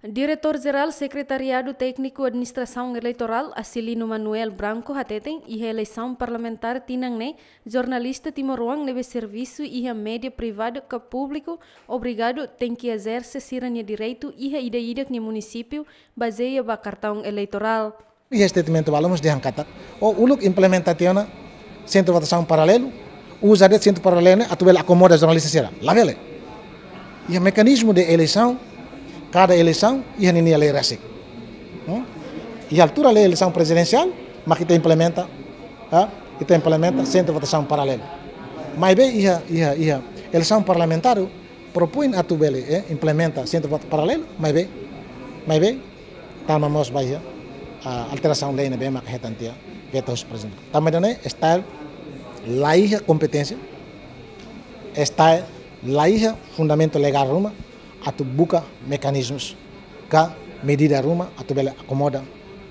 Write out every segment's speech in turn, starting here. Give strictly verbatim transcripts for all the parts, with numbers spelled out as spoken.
Diretór Jerál Sekretariadu Tékniku Administrasaun Eleitorál, Acilino Manuel Branco, hateten, iha eleisaun parlamentár tinan ne'e, jornalista timoroan ne'ebé servisu iha média privadu ka públiku obrigadu tenke ezerse sira-nia direitu iha ida-idak nia munisípiu, bazeia ba kartaun eleitorál. Iha statement balu mós dehan katak, ó uluk implementa tiha ona sentru votasaun paralelu, uza de'it sentru paralelu ne'e atu bele akomoda jornalista sira. Labele. Iha mekanizmu de eleisaun, kada eleisaun iha ninia lei rasik. Hmm? Iha altura lei eleisaun prezidensiál, mak ita implementa, ha? Ita implementa sentru votasaun paralelu. Maibé iha, iha, iha eleisaun parlamentár, propoin atu bele, eh, implementa sentru votasaun paralelu, maibé, maibé, tama mós ba iha, ah, alterasaun lei ne'ebé maka hetan tiha veto husi prezidente. Tanba ida-ne'e, STAE la iha kompeténsia, STAE la iha fundamentu legál ruma atu buka mekanizmus ka medida ruma atu bele akomoda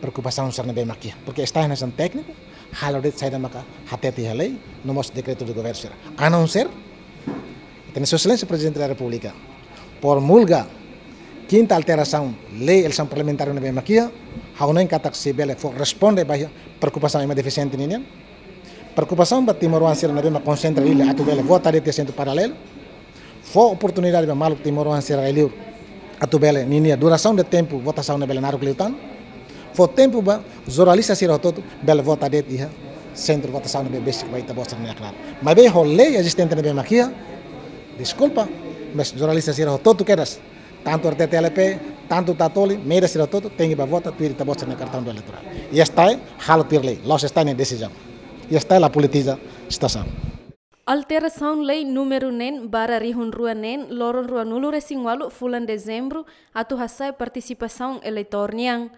preokupasaun sira ne'ebé mak iha. Porque STAE hanesan tékniku, halo de'it saida maka hatete iha lei, no mós dekretu de governu sira. A não ser, ita-nia Sua Exelénsia Prezidente da Repúblika promulga kinta alterasaun lei eleisaun parlamentár ne'ebé mak iha, ha'u hanoin katak sei bele fó responde ba iha preokupasaun ema defisiente ninian. Preokupasaun ba timoroan sira ne'ebé mak konsentra iha atu bele vota de'it iha sentru paralelu. Fó oportunidade ba maluk timoroan sira rai-liur atu bele ninia durasaun de tempu votasaun ne'e bele naruk liután. Fó tempu ba jornalista sira hotu-hotu bele vota de'it iha sentru votasaun ne'ebé besik ba ita-boot sira-nia hakarak. Maibé ho lei ezistente ne'ebé mak iha, deskulpa, mas jornalista sira hotu-hotu kedas, tantu RTTL-P, tantu Tatoli, média sira hotu-hotu tenke ba vota tuir ita-boot sira-nia kartaun eleitorál. I STAE halo tuir lei, la'ós STAE nia desizaun. I STAE la politiza situasaun. Alterasaun lei númeru neen barra rihun rua neen, loron ruanulu-resin-ualu fulan Dezembru, atu hasa'e partisipasaun eleitór nian.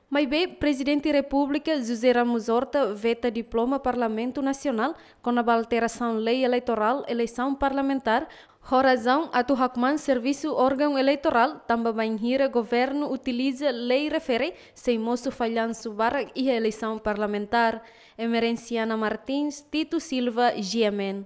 Maibé, Prezidente Repúblika José Ramos Horta veta diploma Parlamentu Nasionál kona-ba alterasaun lei eleitorál eleisaun parlamentár, ho razaun atu hakmaan servisu órgaun eleitorál, tanba bainhira governu utiliza lei refere sei mosu fallansu barak iha eleisaun parlamentár. Emerenciana Martins, Tito Silva, G M N.